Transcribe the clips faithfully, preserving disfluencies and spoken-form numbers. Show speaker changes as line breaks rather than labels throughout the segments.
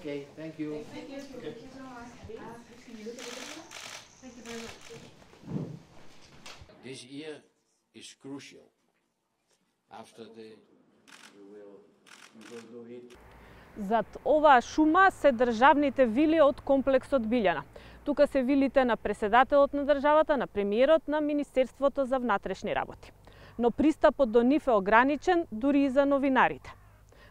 Okay, thank you.
Thank you. Thank you so much. Thank you very much.
This year is crucial. After the we will we will do it.
Зад оваа шума се државните вили од комплексот Билјана. Тука се вилите на преседателот на државата, на премиерот, на Министерството за внатрешни работи. Но пристапот до нив е ограничен дури и за новинарите.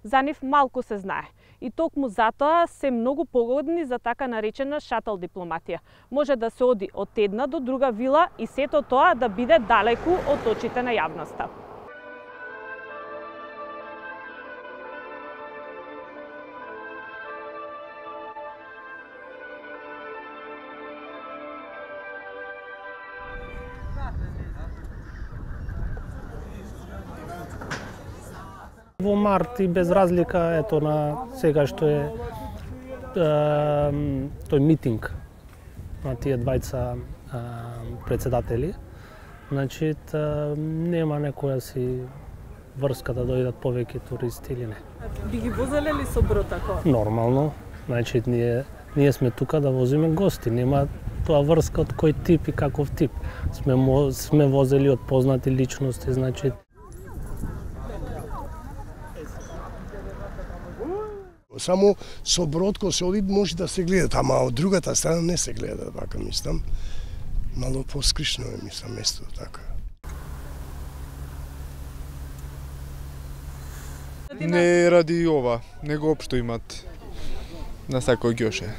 За нив малку се знае. И токму затоа се многу погодни за така наречена шатл дипломатија. Може да се оди од една до друга вила и сето тоа да биде далеку од очите на јавноста.
Во март и без разлика ето на сега што е, е тој митинг на тие двајца е, председатели, значи е, нема некоја си врска да дојдат повеќе туристи или не.
Би ги возеле ли со брод тако?
Нормално, значи ние ние сме тука да возиме гости, нема тоа врска од кој тип и каков тип. Сме сме возели од познати личности, значи
само со брод кој се оди може да се гледат, ама од другата страна не се гледа, така мислам. Мало поскришно е, мислам, местото така.
Не ради ова, него општо имат на секој ѓоше.